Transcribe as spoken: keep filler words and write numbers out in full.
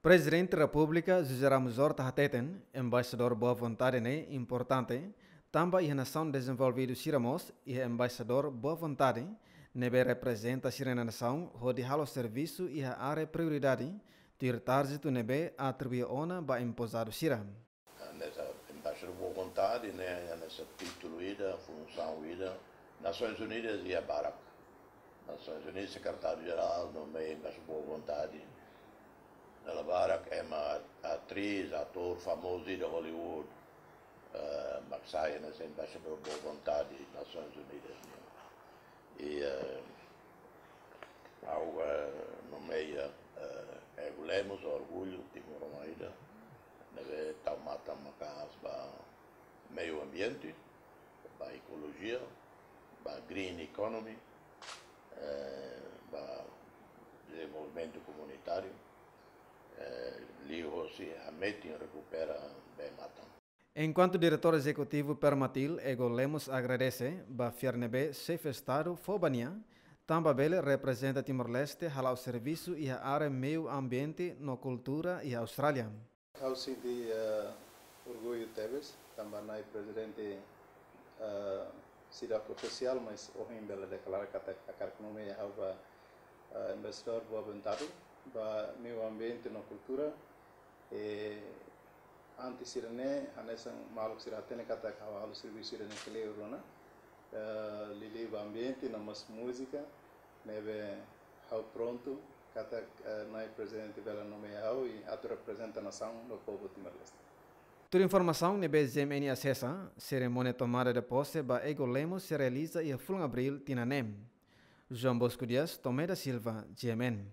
Prezidente Repúblika José Ramos Horta hateten, embaixadór boa vontade ne'e importante, tanba iha nasaun dezenvolvidu sira mós iha embaixadór boa vontade, ne'ebé reprezenta sira-nia nasaun hodi halo servisu iha área prioridade, tuir trázito ne'ebé atribui ona ba emposadu sira. Hanesan embaixadór boa vontade ne'e, hanesan títulu ida, funsaun ida, Nasoins Unidas iha barak. Nasoins Unidas, sekretáriu jerál, nomeia embaixadór boa vontade. Dala barak ema atriz, atór famozu ida Hollywood, eh, mak sai hanesan embaixadór boa vontade Nasoins Unidas nian. I, eh, ha'u, eh, nomeia, eh, Ego Lemos, orgullu timoroan ida, ne'ebé tau matan maka'as ba meiu ambiente, ba ekolojia, ba green economy, eh, ba dezenvolvimentu komunitáriu, eh, liuhosi hametin rekupera bee-matan. Enkuantu Diretór Ezekutivu Permatil, Ego Lemos, agradese ba fiar ne'ebé Xefe Estadu fó ba nia, tanba bele reprezenta Timor-Leste hala'o servisu iha área meiu ambiente no kultura iha Austrália. Ha'u sente, eh, orgullu tebes, tanba Na'i Prezidente, eh, seidauk ofisiál, mas ohin bele deklara katak hakarak nomeia ha'u ba, eh, embaixadór boa vontade ba meiu ambiente no kultura. I antes sira-ne'e, hanesan maluk sira hatene katak ha'u halo servisu sira-ne'e kleur ona, eh, liuliu ba ambiente, no mós múzika, ne'ebé ha'u prontu katak, eh, Na'i Prezidente bele nomeia ha'u i atu reprezenta nasaun no povu Timor-Leste. Tuir informasaun ne'ebé G M N asesa, serimónia tomada de posse ba Ego Lemos sei realiza iha fulan Abríl tinan ne'e. João Bosco Dias, Tomé da Silva, G M N.